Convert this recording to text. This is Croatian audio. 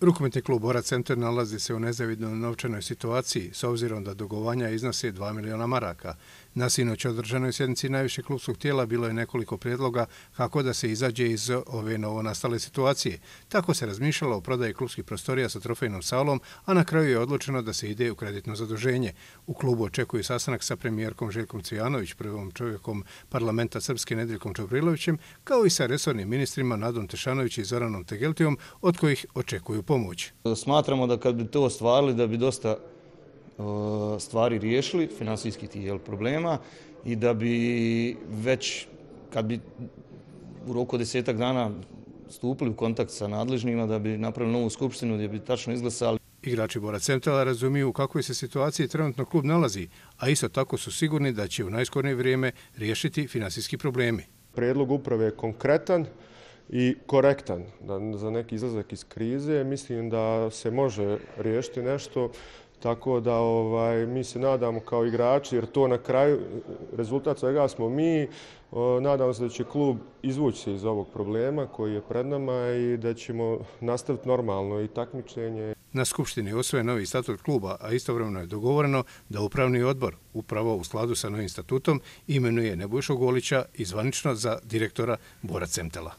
Rukometni klub Borac Centar nalazi se u nezavidnoj novčanoj situaciji s obzirom da dugovanja iznose 2 miliona maraka. Na sinoć održanoj sjednici najvišeg klubskog tijela bilo je nekoliko prijedloga kako da se izađe iz ove novonastale situacije. Tako se razmišljalo o prodaji klubskih prostorija sa trofejnom salom, a na kraju je odlučeno da se ide u kreditno zaduženje. U klubu očekuju sastanak sa premijerkom Željkom Cvijanović, prvom čovjekom parlamenta Srpske Nedeljkom Čobrilovićem, kao i sa resornim ministrima Nadom Tešanović i Zoranom Tegeltijom, od kojih očekuju pomoć. Smatramo da kad bi to ostvarili da bi dosta stvari riješili, finansijskih problema, i da bi već kad bi u roku 10 dana stupili u kontakt sa nadležnima, da bi napravili novu skupštinu gdje bi tačno izglasali. Igrači Borac Centara razumiju u kakvoj se situaciji trenutno klub nalazi, a isto tako su sigurni da će u najskorije vrijeme riješiti finansijski problemi. Prijedlog uprave je konkretan i korektan za neki izlazak iz krize. Mislim da se može riješiti nešto, tako da mi se nadamo kao igrači, jer to na kraju rezultat svega smo mi. Nadamo se da će klub izvući se iz ovog problema koji je pred nama i da ćemo nastaviti normalno i takmičenje. Na skupštini je usvojen novi statut kluba, a istovremeno je dogovoreno da upravni odbor, upravo u skladu sa novim statutom, imenuje Nebojšu Golića i zvanično za direktora Borac Centara.